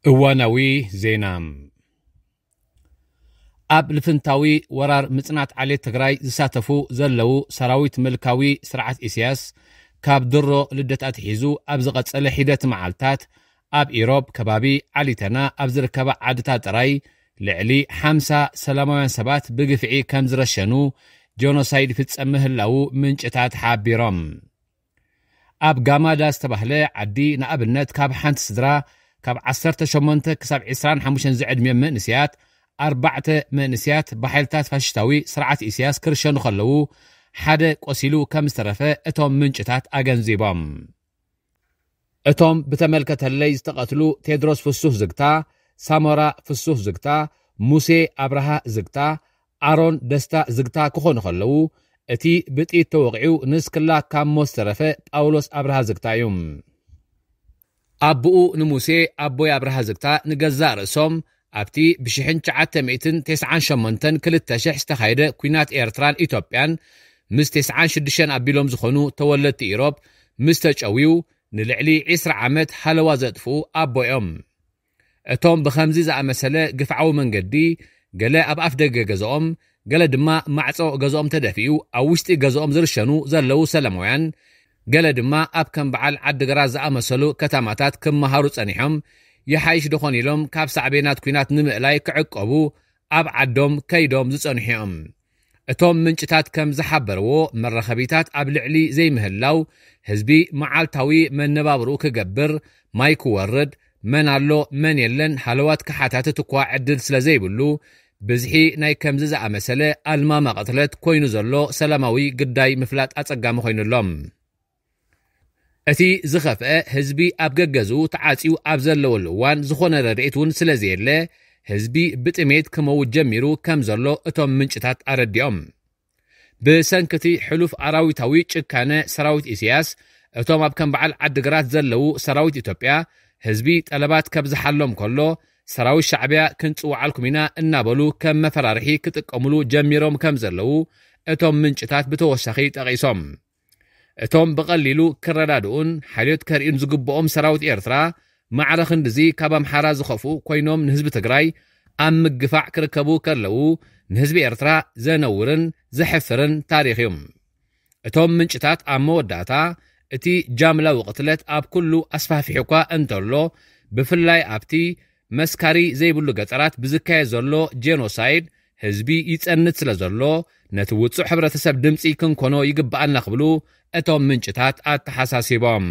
እዋናዊ ዜና። ኣብ ልፍንታዊ ወራር ምጽናት ዓሌት ትግራይ ዝሳተፉ ዘለዉ ሰራዊት ምልካዊ ስርዓት ኢሳያስ፣ ካብ ድሮ ልደት ኣትሒዙ ኣብ ዝቐጸለ ሒደት መዓልታት፣ ኣብ ኢሮብ ከባቢ ዓሊተና ኣብ ዝርከባ ዓድታት ጥራይ ልዕሊ ሓምሳ ሰላማውያን ሰባት ብግፍዒ ከም ዝረሸኑ፣ ጀኖሳይድ ይፍጸም ምህላዉ ምንጭታት ሓቢሮም። ኣብ ጋማዳ ዝተባህለ ዓዲ፣ ንኣብነት፣ ካብ ሓንቲ ስድራ ካብ ዓሰርተ ሸሞንተ ክሳብ ዕስራን ሓሙሽተን ዝዕድሚኦም መንእሰያት፣ ኣርባዕተ መንእሰያት ብሓይልታት ፋሽስታዊ ስርዓት ኢሳያስ ክርሸኑ ከለዉ፣ ሓደ ቆሲሉ ከም ዝተረፈ እቶም ምንጭታት ኣገንዚቦም። እቶም ብተመልከተለይ ዝተቐትሉ ቴድሮስ ፍሱህ ዝግታ፣ ሳሞራ ፍሱህ ዝግታ፣ ሙሴ ኣብርሃ ዝግታ፣ ኣሮን ደስታ ዝግታ ክኾኑ ከለዉ፣ እቲ ብጥይት ተወቒዑ ንስክላ ካብ ሞት ዝተረፈ ጳውሎስ ኣብርሃ ዝግታ እዩ። ኣቦኡ ንሙሴ ኣቦይ ኣብርሃ ዝግታ ንገዛእ ርእሶም ኣብቲ ብሽሕን ትሽዓተ ሚእትን ተስዓን ሸሞንተን ክልተ ሽሕ ዝተኻየደ ኲናት ኤርትራን ኢትዮጵያን ምስ ተስዓን ሽዱሽተን ኣቢሎም ዝኾኑ ተወለድቲ ኢሮብ ምስ ተጨውዩ፣ ንልዕሊ ዕስራ ዓመት ሃለዋ ዘጥፍኡ ኣቦ እዮም። እቶም ብኸምዚ ዝኣመሰለ ግፍዓዊ መንገዲ፣ ገለ ኣብ ኣፍ ደገ ገዛኦም፣ ገለ ድማ ማዕጾ ገዛኦም ተደፊኡ ኣብ ውሽጢ ገዛኦም ዝርሸኑ ዘለዉ ሰላማውያን፣ ገለ ድማ ኣብ ከም በዓል ዓዲግራት ዝኣመሰሉ ከተማታት ክመሃሩ ጸኒሖም፣ ይሓይሽ ደኾን ኢሎም ካብ ሳዕቤናት ኲናት ንምእላይ ክዕቀቡ ኣብ ዓዶም ከይዶም ዝጸንሑ እዮም። እቶም ምንጭታት ከም ዝሓበርዎ፣ መራኸቢታት ኣብ ልዕሊ ዘይምህላው፣ ህዝቢ መዓልታዊ መነባብርኡ ክገብር፣ ማይ ክወርድ፣ መን ኣሎ መን የለን ሃለዋት ክሓታትት እኳ ዕድል ስለ ዘይብሉ፣ ብዝሒ ናይ ከምዚ ዝኣመሰለ ኣልማማ ቅትለት ኮይኑ ዘሎ ሰላማዊ ግዳይ ምፍላጥ ኣጸጋሚ ኮይኑሎም። እቲ ዝኸፍአ፣ ህዝቢ ኣብ ገገዝኡ ተዓጽዩ ኣብ ዘለወሉ እዋን ዝኾነ ረድኤት እውን ስለ ዘየለ፣ ህዝቢ ብጥሜት ክመውት ጀሚሩ ከም ዘሎ እቶም ምንጭታት ኣረዲኦም። ብሰንኪ እቲ ሕሉፍ ኣራዊታዊ ጭካነ ሰራዊት ኢሳያስ፣ እቶም ኣብ ከም በዓል ዓዲግራት ዘለዉ ሰራዊት ኢትዮጵያ፣ ህዝቢ ጠለባት ከብዝሓሎም ከሎ፣ ሰራዊት ሻዕብያ ክንጽውዓልኩም ኢና እናበሉ ከም መፈራርሒ ክጥቀሙሉ ጀሚሮም ከም ዘለዉ እቶም ምንጭታት ብተወሳኺ ጠቒሶም። እቶም ብቐሊሉ ክረዳድኡን ሓልዮት ከርእዩን ዝግብኦም ሰራዊት ኤርትራ፣ ማዕረ ክንድዚ ካብ ኣምሓራ ዝኸፍኡ ኮይኖም ንህዝቢ ትግራይ ኣብ ምግፋዕ ክርከቡ ከለዉ፣ ንህዝቢ ኤርትራ ዘነውርን ዘሕፍርን ታሪኽ እዩ። እቶም ምንጭታት ኣብ መወዳእታ፣ እቲ ጃምላዊ ቅትለት ኣብ ኩሉ ኣስፋሕፊሑ እኳ እንተሎ፣ ብፍላይ ኣብቲ መስካሪ ዘይብሉ ገጠራት ብዝካየድ ዘሎ ጄኖሳይድ፣ ህዝቢ ይጸንት ስለ ዘሎ፣ ነቲ ውጹዕ ሕብረተሰብ ድምጺ ክንኮኖ ይግብኣና ክብሉ እቶም ምንጭታት ኣተሓሳሲቦም።